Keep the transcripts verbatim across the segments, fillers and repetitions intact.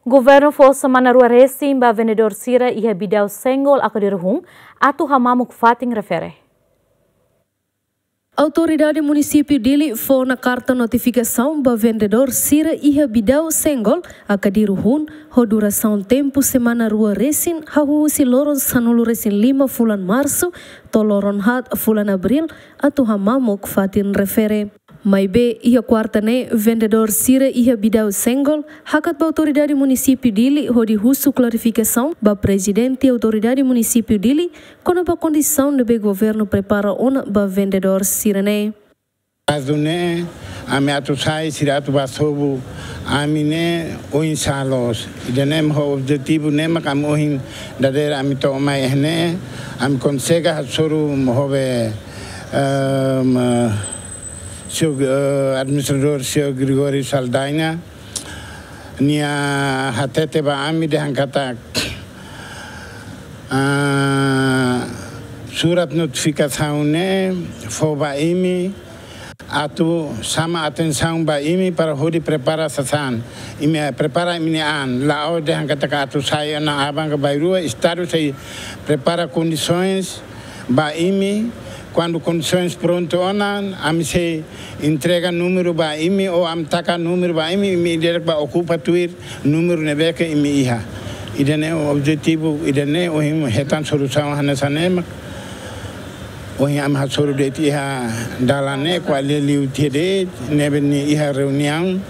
Governu fó semana rua resin ba vendedór sira iha Bidau Senggol, Akadiru-Hun, atu hamamuk fatin refere. Autoridade Munisípiu Dili fó ona karta notifikasaun ba vendedór sira iha Bidau Senggol, Akadiru-Hun, ho durasaun tempu semana rua resin, hahú husi loron sanulu-resin-lima fulan Marsu to'o loron haat fulan Abríl, atu hamamuk fatin refere. Maibé, iha kuarta ne'e, vendedór sira iha Bidau Senggol hakat ba Autoridade Munisípiu Dili hodi husu klarifikasaun ba Prezidente Autoridade Munisípiu Dili kona-ba kondisaun ne'ebé governu prepara ona ba vendedór sira-ne'e. Kazu ne'e, ami atu sai, sira atu bá sobu ami-nia oinsá loos. Ida-ne'e mak objetivu ne'e mak ami ohin dadeer ami to'o mai iha ne'e, ami konsege hasoru ho be, ehm, señór, eh, administradór, señór Gregório Saldanha, nia hatete ba ami dehan katak, ah, surat notifikasaun ne'e fó ba imi atu xama atensaun ba imi para hodi prepara sasán. Imi prepara imi-nia an. La'ós dehan katak atu sai ona aban ka bainrua, Estadu sei prepara kondisoens ba imi. Kuandu kondisoens prontu ona, ami sei entrega númeru ba imi, ou ami taka númeru ba imi, imi direta bá okupa tuir númeru ne'ebé ke imi iha. Ida-ne'e objetivu, ida-ne'e ohin hetan solusaun hanesan ne'e mak ohin ami hasoru de'it iha dalan ne'e, ko'alia liu tiha de'it, ne'ebé nia iha reuniaun,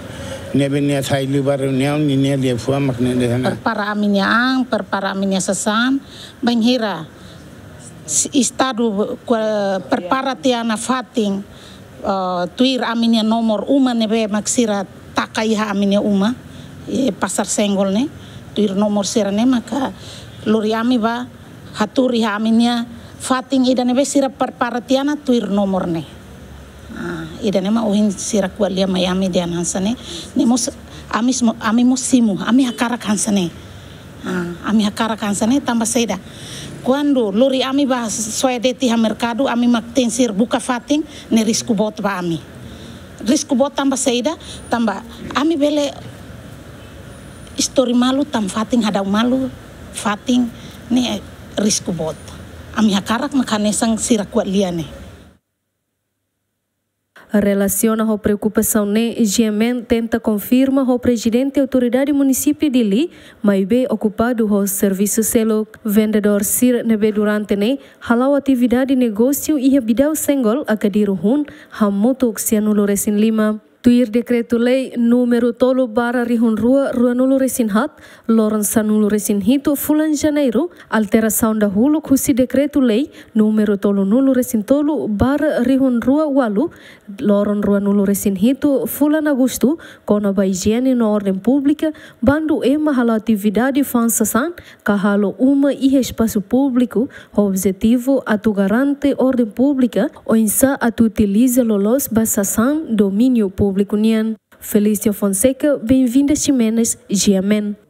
ne'ebé nia sai liu ba reuniaun, ninia liafuan mak ne'e dehan. Prepara ami-nia an, prepara ami-nia sasán, bainhira s-, Estadu, eh, prepara tiha ona fatin, eh, tuir ami-nia nomor uma ne'ebé mak sira taka iha ami-nia uma, eh, Pasar Senggol ne'e, tuir nomor sira-ne'e maka lori ami bá hatuur iha ami-nia fatin ida ne'ebé sira prepara tiha ona tuir nomor ne'e. Ah, ida-ne'e mak ohin sira ko'alia mai ami dehan hanesan ne'e. Ne'e mós ami simo-, ami mós simu, ami hakarak hanesan ne'e. Ah, ami hakarak hanesan ne'e tanba saida? Kuandu lori ami bá soe de'it iha merkadu, ami mak tenke sira buka fatin, ne'e risku boot ba ami. Risku boot tanba saida? Tanba ami bele istori malu, tan fatin hadau malu, fatin ne'e risku boot. Ami hakarak mak hanesan sira ko'alia ne'e. Relasiona ho preokupasaun ne'e, GMN tenta konfirma ho Prezidente Autoridade Munisípiu Dili, maibé okupadu ho servisu seluk. Vendedór sira ne'ebé durante ne'e hala'o atividade negósiu iha Bidau Senggol, Akadiru-Hun, hamutuk sianulu-resin-lima. Tuir Dekretu-Lei númeru tolu barra rihun rua ruanulu-resin-haat, loron sanulu-resin-hitu fulan Janeiru, alterasaun dahuluk husi Dekretu-Lei númeru tolunulu-resin-tolu barra rihun rua ualu, loron ruanulu-resin-hitu fulan Agostu, kona-ba ijiene no orden públika, bandu ema halo atividade fa'an sasán ka halo uma iha espasu públiku, ho objetivu atu garante orden públika, oinsá atu utiliza loloos ba sasán domíniu públiku nian. Felícia Fonseca, Benvinda Ximenes, GMN.